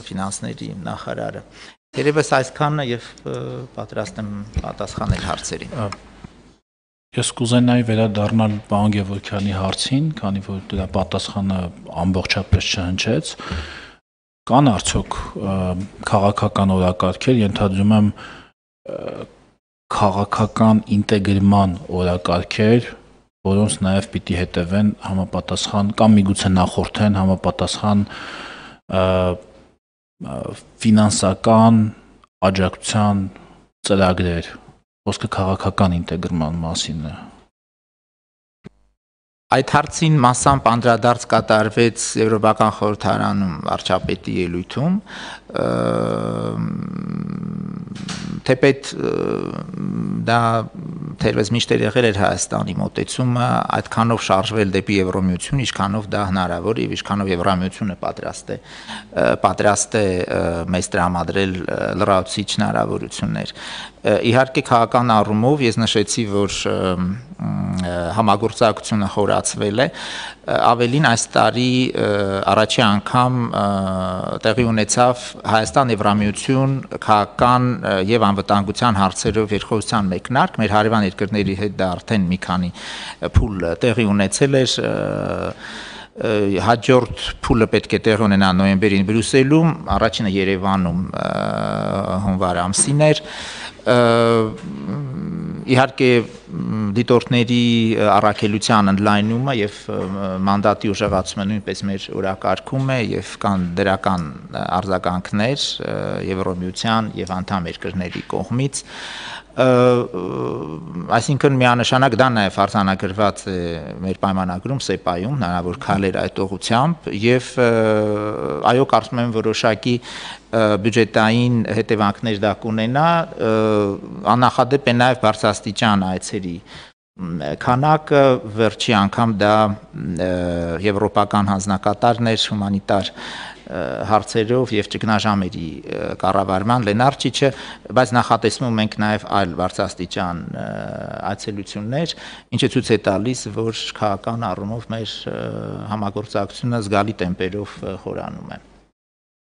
ֆինանսների նախարարը։ Երևս այսքանը եւ պատրաստ եմ պատասխանել հարցերին։ Ես կուզենայի վերադառնալ պարոն Գևորգյանի հարցին, քանի որ դրա պատասխանը ամբողջապես չհնչեց։ Կան արդյոք քաղաքական օրակարգեր, ենթադրում եմ քաղաքական ինտեգրման օրակարգեր, որոնց նաև պիտի հետևեն համապատասխան կամ միգուցե նախորդեն համապատասխան ֆինանսական աջակցության ծրագրեր, խոսքը քաղաքական ինտեգրման մասին է։ Այդ հարցին մասամբ անդրադարձ կատարվեց Եվրոպական խորհրդարանում վարչապետի ելույթում, թեպետ դա թերևս միշտ եղել էր Հայաստանի մոտեցումը այդքանով շարժվել դեպի Եվրոմիություն, ինչքանով դա հնարավոր է, ինչքանով Եվրամիությունը պատրաստ է մեզ տրամադրել լրացուցիչ հնարավորություններ։ Իհարկե քաղաքական առումով ես նշեցի, որ համագործակցությունը խորացվել է, ավելին այս տարի առաջի անգամ տեղի ունեցավ Հայաստան-Եվրամիություն քաղաքական եւ անվտանգության հարցերով երկխոսության մեկնարկ, մեր հարևան երկրների հետ դա արդեն մի քանի փուլ տեղի ունեցել էր, հաջորդ փուլը պետք է տեղի ունենա նոյեմբերին Բրյուսելում, առաջինը Երևանում հունվար ամսին էր, իհարկե դիտորդների առաքելության ընդլայնումը եւ մանդատի ուժեղացումը նույնպես մեր օրակարգում է եւ կան դրական արձագանքներ Եվրոմիության եւ անդամ երկրների կողմից, այսինքն միանշանակ դա նաև արձանագրված է մեր պայմանագրում ՍԵՊԱ-ում հնարավոր քայլեր այդ ուղղությամբ եւ այո կարծում եմ որոշակի բյուջետային հետևանքներ դա կունենա, աննախադեպ է նաև բարձրաստիճան այցերի քանակը, վերջի անգամ դա եվրոպական հանձնակատարներ հումանիտար հարցերով եւ ճգնաժամերի կառավարման Լենարչիչը, բայց նախատեսվում ենք նաև այլ բարձրաստիճան այցելություններ, ինչը ցույց է տալիս, որ քաղաքական առումով մեր համագործակցությունը զգալի տեմպերով խորանում է։